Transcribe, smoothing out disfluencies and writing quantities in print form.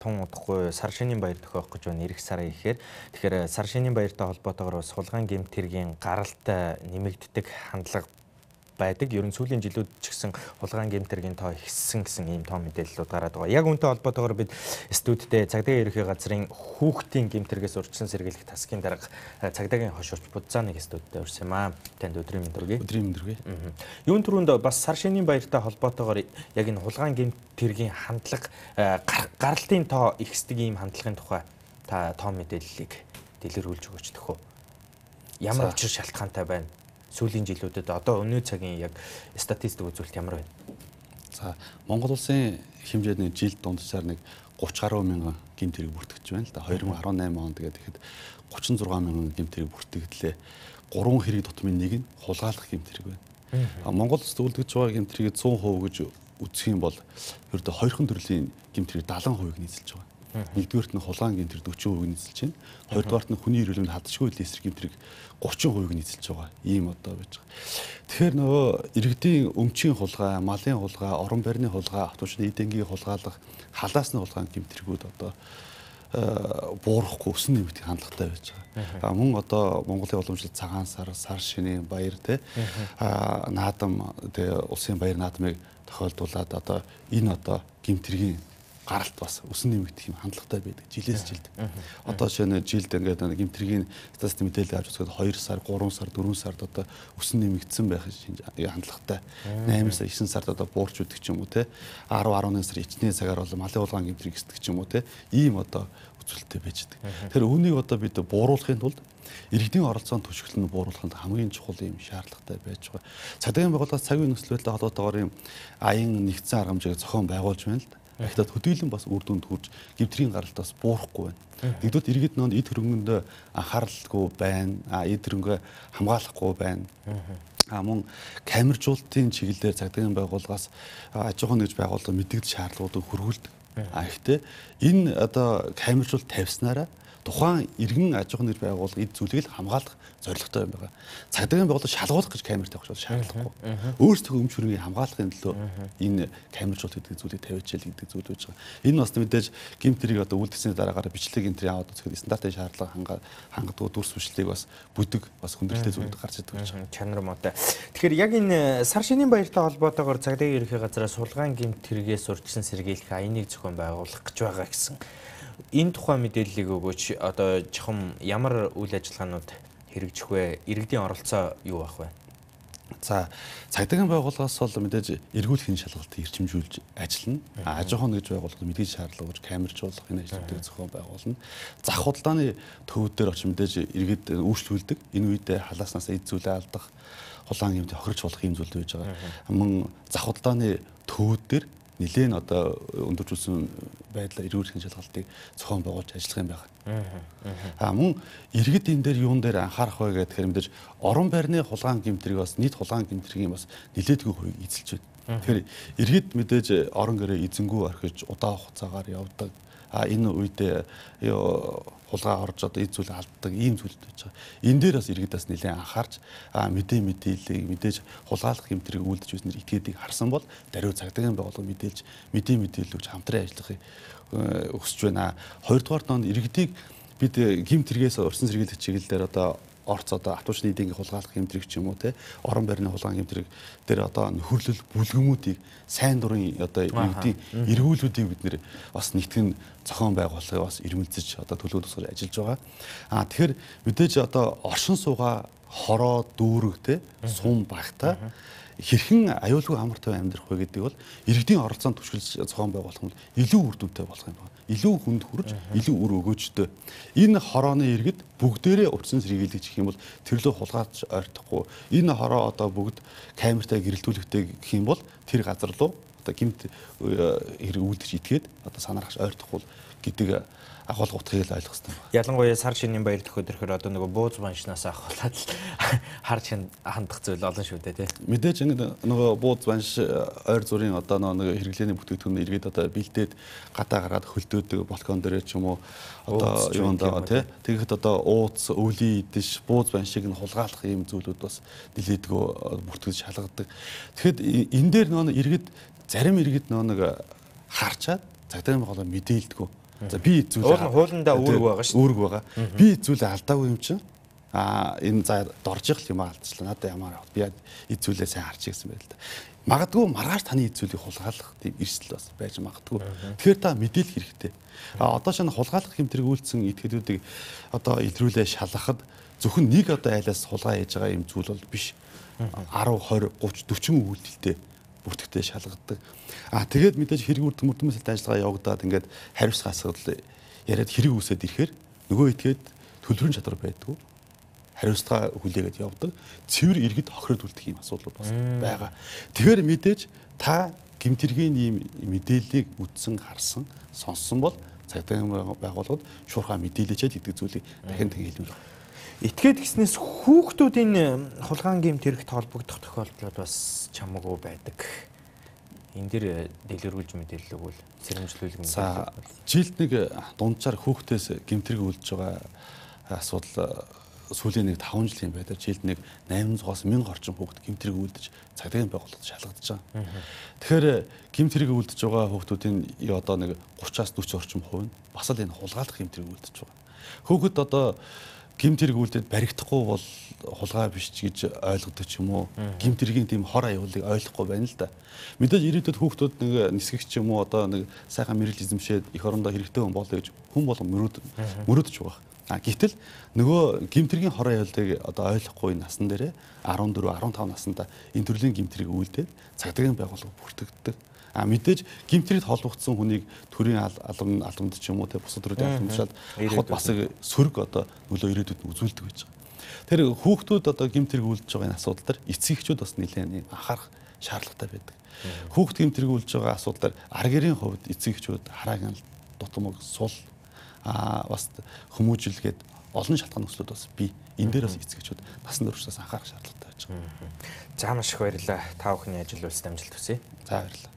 тун удахгүй сар шинийн баяр төхөөх гэж байна. Ирэх сарын ихээр. Тэгэхээр сар шинийн баяртай холбоотойгоор бас хулгайн гэмт хэргийн гаралт нэмэгддэг хандлага байдаг. Ер нь сүүлийн жилүүд ч гэсэн хулгайн гэмт хэргийн тоо ихссэн гэсэн ийм тоо мэдээллүүд гараад байгаа. Яг үүнтэй холбоотойгоор бид студидтэй Цагдаагийн ерөнхий газрын хүүхдийн гэмт хэрэгээс урьдчилан сэргийлэх тасгийн дарга Цагдаагийн хошуурч Будзааныг студидтэй урьсан юм аа. Танд өдрийн мэнд хүргэе. Өдрийн мэнд хүргэе. Юун түрүүнд бас сар шинийн баяртай холбоотойгоор яг энэ хулгайн гэмт хэргийн хандлага гаралтын тоо ихсдэг ийм хандлагын тухай та тоо мэдээллийг дэлгэрүүлж өгөөч төхөө. Ямар учир шалтгаантай байна? Сүүлийн жилүүдэд одоо өнөө цагийн яг статистик үзүүлэлт ямар байна? За Монгол улсын хэмжээний жилд дунджаар нэг 30 гаруй мянган гэмт хэрэг бүртгэж байна л да. 2018 онд тэгээд ихэд 36 мянган гэмт хэрэг бүртгэгдлээ. 3 хэрэг тутмын нэг нь хулгайлах гэмт хэрэг байна. Монгол улсад үлдэж байгаа гэмт хэрэг 100% гэж үзэх юм бол ердөө хоёрхан төрлийн гэмт хэрэг 70% нийцэлж байгаа. Нэгдүгээрт нь хулгайн гэмт хэрэг 40% нийцэлж байна. Хоёрдугаарт нь хүний эрүүл мэнд хадшгүй эсрэг гэмт хэрэг 30% нийцэлж байгаа. Ийм одоо байж байгаа. Тэгэхээр нөгөө иргэдийн өмчийн хулгай, малын хулгай, орон байрны хулгай, автобусны эд ангийн хулгайлах, халаасны хулгайн гэмт хэрэгүүд одоо буурахгүй өсөн нэмэгдэх хандлагатай байж байгаа. Мөн одоо Монголын уламжлалт цагаан сар, сар шинийн баяр наадам улсын баяр наадмыг тохиолдуулаад одоо энэ одоо гэмт хэргийн гаралт бас өсөн нэмэгдэх юм хандлагатай байдаг. Жилээс жилд. Одоо жишээ нь жилд ингээд гэмт хэргийн статистик мэдээлэл авч үзэхэд 2 сар, 3 сар, 4 сард одоо өсөн нэмэгдсэн байх хандлагатай. 8 сар, 9 сард одоо буурч үдэх ч юм уу те. 10, 11 сар ичнээ цагаар бол малын хулгайн гэмт хэрэг эсдэг ч юм уу те. Ийм одоо үзүүлэлттэй байж байгаа. Тэгэхээр үүнийг одоо бид бууруулахын тулд иргэдийн оролцоонд түшиглэн бууруулахын хамгийн чухал юм шаардлагатай байж байгаа. Цагдаагийн байгууллагаас цаг үеийн нөхцөл байдлаа холбоотойгоор юм аян нэгдсэн аргамжийг зохион байгуулж байна л да. Гэхдээ хөдөлгөөн бас үр дүнд хүрч гэмтрийн гаралтаас буурахгүй байна. Нэгдүгээр иргэд нөөнд эд хөрөнгөнд анхааралгүй байна. Эд хөрөнгөө хамгаалахгүй байна. Мөн камержуулалтын чиглэлээр цагдаагийн байгууллагаас аж ахуйн нэгж байгууллага мэдээлэл шаардлагуудыг хөрвүүлдэг. Гэхдээ энэ одоо камержуулалт тавьснараа тухайн иргэн аж ахуйн нэгж байгууллага эд зүйлийг хамгаалах зорилготой юм байна. Цагдаагийн байгууллага шалгуулах гэж камер тавих шаардлагагүй. Өөрсдөө өмч хөрөнгийг хамгаалахын төлөө энэ камержуулалт гэдэг зүйлийг тавьчихэл гэдэг зүйл байж байгаа. Энэ бас мэдээж гэмт хэрэг одоо үлдсэний дараагаар бичлэг гэмтрийн аваад үзэхэд стандартын шаардлага хангадаг дүрс бичлэг бас бүдэг бас хүндрэлтэй зүйлүүд гарч ирдэг байж байгаа. Чанар муутай. Тэгэхээр яг энэ сар шинийн баяртай холбоотойгоор Цагдаагийн ерөнхий газраас хулгайн гэмт хэргээс урьдчилан сэргийлэх аяныг зохион байгуулах гэж байгаа гэсэн. Энэ тухай мэдээллийг өгөөч. Одоо жохом ямар үйл ажиллагаанууд хэрэгжих вэ? Иргэдийн оролцоо юу байх вэ? За, цагдаагийн байгууллагаас бол мэдээж эргүүлэхийн шалгалтыг эрчимжүүлж ажиллана. Аж ахуйн нэгж байгууллагад мэдээж шаардлага гэж камержуулах энэ ажлуудыг зохион байгуулна. Зах худалдааны төвүүд дээр очиж мэдээж иргэд үйлчлүүлдэг. Энэ үед халааснаас эд зүйлээ алдах, хулгайн гэмт хохирч болох юм зүйл байж байгаа. Мөн зах худалдааны төвүүд дээр нэлээд одоо өндөржүүлсэн байдлаар эргүүлэхийн шалгалтыг зохион байгуулж ажиллах юм байна. Мөн иргэд энэ дээр юун дээр анхаарах вэ гэхээр мэдээж орон байрны хулгайн гэмт хэрэг бас нийт хулгайн гэмт хэргийн бас нэлээдгүй хувийг эзэлж байна. Тэгэхээр иргэд мэдээж орон гэрээ эзэнгүү орхиж удаан хугацаагаар явдаг. Энэ үед хулгай орж одоо эд зүйл алддаг ийм зүйлүүд байж байгаа. Энэ дээр бас иргэд бас нэлээд анхаарч мэдээллийг мэдээж хулгайлах гэмтрийг үлдэж үүснээр итгээдийг харсан бол даруй цагдаагийн байгууллага мэдээлж мэдээлүүлж хамтран ажиллахыг өсөж байна. Хоёрдугаар нь иргэдийг бид гэмт хэрэгээс урьдчилан сэргийлэх чиглэлээр одоо орц одоо автобусны эдийн хулгайлах гэмтрийг ч юм уу те орон байрны хулгайн гэмтрийг дээр одоо нөхөрлөл бүлгэмүүдийг сайн дурын одоо иргэдийн эргүүлүүдийг бид нэр бас нэгтгэн зохион байгуулахыг бас ирмэлзэж одоо төлөв тусгаж ажиллаж байгаа. Тэгэхээр мэдээж одоо оршин суугаа хороо дүүрэг те сум багтаа хэрхэн аюулгүй амар тав амьдрах вэ гэдэг бол иргэдийн оролцоонд түшиглэж зохион байгуулах нь илүү үр дүнтэй болох юм байна. Илүү хүнд хүрж, илүү үр өгөөжтэй. Энэ хорооны иргэд бүгдээрээ урьдчилан сэргийлэх гэх юм бол тэрлөө хулгайч ойртохгүй. Энэ хороо одоо бүгд камертай гэрэлтүүлэхтэй гэх юм бол тэр газар руу одоо гэмт хэрэг үлдэж итгээд одоо санаарахч ойртохгүй гэдэг агуулга утгыг ойлгох хэрэгтэй байна. Ялангуяа сар шинийн баяр төхөөрөхөр одоо нөгөө бууз баншнаас ахуулаад харж хандах зүйл олон шүү дээ тий. Мэдээж ингэ нөгөө бууз банш ойр зүрийн одоо нөгөө хэрэглээний бүтээгдэхүүн иргэд одоо бэлдээд гадаа гаргаад хөлдөөдөг балкон дээр ч юм уу одоо юунд байгаа тий. Тэгэхэд одоо ууц, өвлийн идэж бууз баншиг нь хулгайлах ийм зүйлүүд бас нилээдгөө бүртгэж шалгадаг. Тэгэхэд энэ дээр нөгөө иргэд зарим иргэд нөгөө харчаад цагдаагийн байгууллага мэдээлдэггүй. За би эзүүлээ. Хуулиндаа үүрэг байгаа шүү. Үүрэг байгаа. Би эзүүлээ алдаагүй юм чинь. Энэ за дорж их юм алдчихлаа. Надад ямар би эзүүлээ сайн харчих гэсэн байл та. Магадгүй маргааш таны эзүүлийг хулгайлах тийм эрсдэл бас байж магадгүй. Тэгэхээр та мэдээлэх хэрэгтэй. Одоо шинэ хулгайлах хэмтрэг үйлцсэн этгээдүүдийг одоо илрүүлээ шалгахад зөвхөн нэг одоо айлаас хулгай хийж байгаа юм зүйл бол биш. 10, 20, 30, 40 үйлдэлтэй бүртгэгдээ шалгадаг. Тэгээд мэдээж хэрэг мөрдөмөс ажиллагаа явагдаад ингээд хариуцлага асуудал яриад хэрэг үүсээд ирэхээр нөгөө этгээд төлбөрийн чадвар байдгүй. Хариуцлага хүлээгээд явдаг. Цэвэр иргэд хохироод үлдэх юм асуудал бас байгаа. Тэгэхээр мэдээж та гэмтэргийн ийм мэдээллийг үтсэн, харсан, сонссон бол цагдаагийн байгууллагад шуурхай мэдээлэлчээд идэг зүйлийг дахин хэлмээр. Этгээд гиснээс хүүхдүүдийн хулгайн гэмтэрэгт холбогдох тохиолдлууд бас чамаагүй байдаг. Энэ дэр дэлгэрүүлж мэдээлэл өгвөл сэрэмжлүүлэг мэдээлэл. За жилд нэг дунджаар хүүхдээс гэмтэрэг үлдэж байгаа асуудал сүүлийн нэг 5 жилийн байдлаар жилд нэг 800-аас 1000 орчим хүүхэд гэмтэрэг үлдэж цагдаагийн байгууллагад шалгагдаж байгаа. Тэгэхээр гэмтэрэг үлдэж байгаа хүүхдүүдийн одоо нэг 30-аас 40 орчим хувь нь бас л энэ хулгайлах гэмтэрэг үлдэж байгаа. Хүүхэд одоо гэмтэрэг үлдээд баригдахгүй бол хулгай биш гэж ойлгодог ч юм уу. Гэмтэргийн тийм хор аюулыг ойлгохгүй байна л да. Мэдээж ирээдүйд хүүхдүүд нэг нисгэгч юм уу одоо нэг сайхан мэрэгэл эзэмшээд их орондоо хэрэгтэй хүн болоо гэж хүн болон мөрөөдөж байгаа. Гэвтэл нөгөө гэмтэргийн хор аюулыг одоо ойлгохгүй насан дээрээ 14, 15 наснда энэ төрлийн гэмтэрийг үлдээд цагдаагийн байгууллага бүртгэгддэг. Мэдээж гэмтрэгт холбогдсон хүнийг төрийн албанд ч юм уу те бусад төрлийн албандчаад авахд бас сөрөг одоо нөлөө ирээдүйд нь үзүүлдэг байж байгаа. Тэр хүүхдүүд одоо гэмтрэг үлдэж байгаа энэ асуудал дээр эцэг эхчүүд бас нэлээд анхаарах шаардлагатай байдаг. Хүүхд гэмтрэг үлдэж байгаа асуудал дээр аргэрийн хувьд эцэг эхчүүд хараагийн дутмаг сул бас хүмүүжилгээд олон шалтгаан нөхцлүүд бас бий. Энэ дээр бас эцэг эхчүүд насан туршдаас анхаарах шаардлагатай байж байгаа. За маш их баярлалаа. Та бүхний ажил үйлс амжилт хүсье. За баярлалаа.